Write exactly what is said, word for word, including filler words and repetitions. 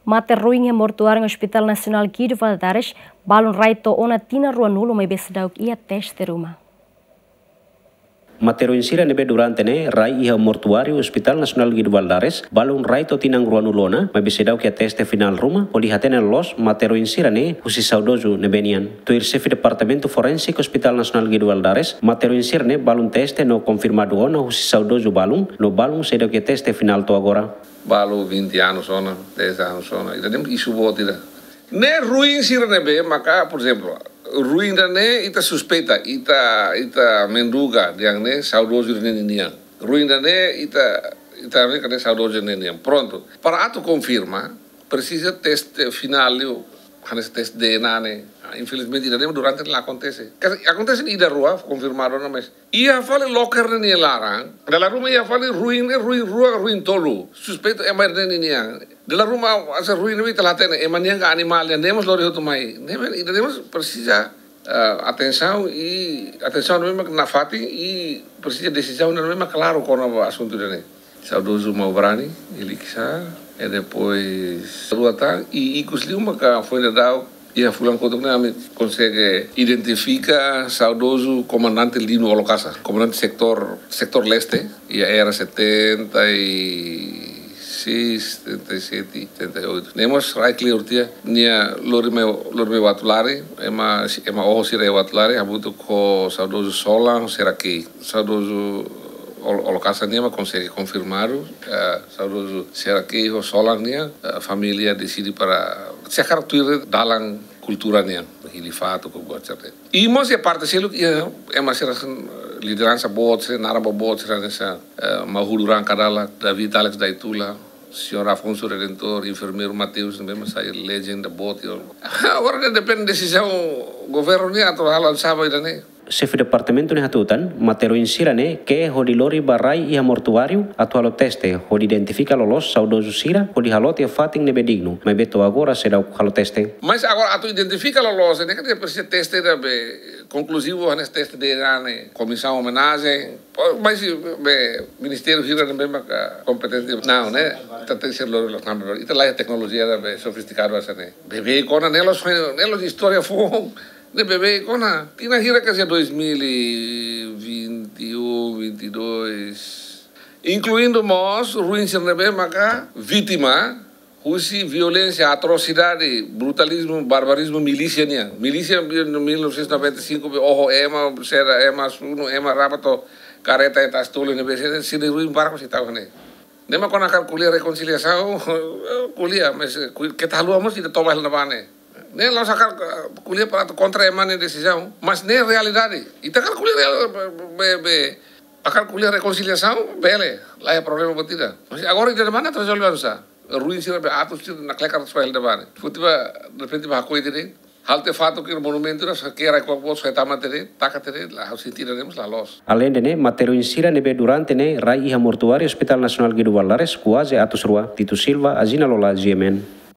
Mate ruin iha mortuáriu Hospital Nasionál Guido Valadares, balun rai to'o ona tinan ruanulu maibé seidauk iha teste ruma. Mate ruin sira ne'ebé durante ne'e rai iha mortuáriu Hospital Nasionál Guido Valadares, balun rai to'o tinan ruanulu ona, maibé seidauk iha teste finál ruma, hodi hatene loloos mate ruin sira-ne'e husi saudozu ne'ebé nian. Tuir xefe Departamentu Forénsiku Hospital Nasionál Guido Valadares, mate ruin sira-ne'e balun teste no konfirmadu ona husi saudozu balun, no balun seidauk iha teste finál to'o agora. Balu vinte anos ona, dez anos ona, ida-ne'e isu boot ida. Ne'e ruin sira ne'ebé maka, por ezemplu, ruin ida-ne'e ita suspeita, ita, ita menduga dehan ne'e saudozu ida-ne'e ninian. Ruin ida-ne'e ita, ita ne'e kade saudozu ida-ne'e ninian. Prontu. Para atu konfirma, presiza teste finál liu, hanesan teste D N A ne'e. Ah, infelizmente ida-ne'e durante la akontese. Kas-, akontese ida rua, konfirmadu ona, mas iha fali loker ne'e nia laran. Dala ruma iha fali ruin ne'e, ruin rua, ruin tolu. Suspeitu ema ida-ne'e ninian. Dala ruma hanesan ruin ne'e ita la hatene ema nian ka animál nian, ne'e mós lori hotu mai. Ne'e mós, ida-ne'e mós presiza, ah, atensaun i atensaun ne'e mak nafatin i presiza desizaun ne'e mak klaru kona-ba asuntu ida-ne'e. Saudozu Maubani, Eliksa, e depois rua tan, i ikus liu maka foin daudauk iha fulan kotuk ne'e ami konsege identifika saudozu komandante Lino Olokasa, komandante setór, setór leste, iha era setenta e seis, setenta e sete, setenta e oito. Ne'e mós rai kleur tiha, nia lori mai, lori mai Uatulari, ema, ema oho sira iha Uatulari, hamutuk ho saudozu Solan, Serakei. Saudozu Ol-, Olokasa nian mak konsege konfirmadu, eh, saudozu Serakei ho Solan nian, eh, família deside para sei hakarak tuir dalan kultura nian, hili fatuk ho buat sira-ne'e. I mós iha parte seluk iha ema sira hanesan, eh, lideransa boot sira, naran boot sira hanesan, eh, Mahudu Rangkadala, David Alex Daitula, Señór Afonso Redentor, enfermeiru Mateus, ne'ebé mak sai legenda boot, yo. Agora ne'e depende desizaun governu nian atu halo oinsá ba ida-ne'e. Xefe departamentu ne'e hatutan, mate ruin sira-ne'e ke'e hodi lori ba rai iha mortuáriu atu halo teste, hodi identifika loloos saudozu sira, hodi halo tiha fatin ne'ebé dignu, maibé to'o agora seidauk halo teste. Mas agora atu identifika loloos, ne'e kan presiza teste ida be konkluzivu, hanesan teste D N A ne'e, komisaun omenajen, po, mas be ministériu hira ne'ebé maka kompetente, não, ne'e, ita tenke ser lori, ita laiha teknolojia ida be sofistikadu hanesan ne'e. Beibeik ona, ne'e la'ós, ne'e la'ós istória foun. Ne'e beibeik ona, tinan hira ka sei dois mil e vinte e um, vinte e dois. Inkluindu mós ruin sira ne'ebé maka vítima husi violénsia, atrosidade, brutalizmu, barbarizmu milísia nian. Milísia mil novecentos e noventa e cinco, oho ema, sera ema, sunu ema, raba to'o kareta, e tas tolu ne'ebé sira, sira ruin barku si tau ne'e. Ne'e mak kona hakarak ko'alia rekonsiliasaun, ko'alia, mas, eh, ku-, keta haluha mós ita toba hela ne'ebá ne'e. Ne'e la'ós hakarak, eh, ko'alia para atu kontra ema nia desizaun, mas ne'e realidade. Ita hakarak ko'alia real, be, be, hakarak ko'alia rekonsiliasaun, bele, laiha problema buat ida. Mas agora ita dehan atu rezolve oinsá. Ruin sira be atus sira nakleker atu soe hela ne'ebá ne'e. Foti ba, derrepente ba hakoi de'it. Halo tiha fatuk iha monumentu ne'e, kera kuak boot, soe tama de'it, taka de'it, la halo sentidu ne'e, mas la loos. Aleinde ne'e, mate ruin sira ne'ebé durante ne'e rai iha mortuáriu Hospital Nasionál Guido Valadares kuaze atus rua. Tito Silva, Azina Lola, G M N.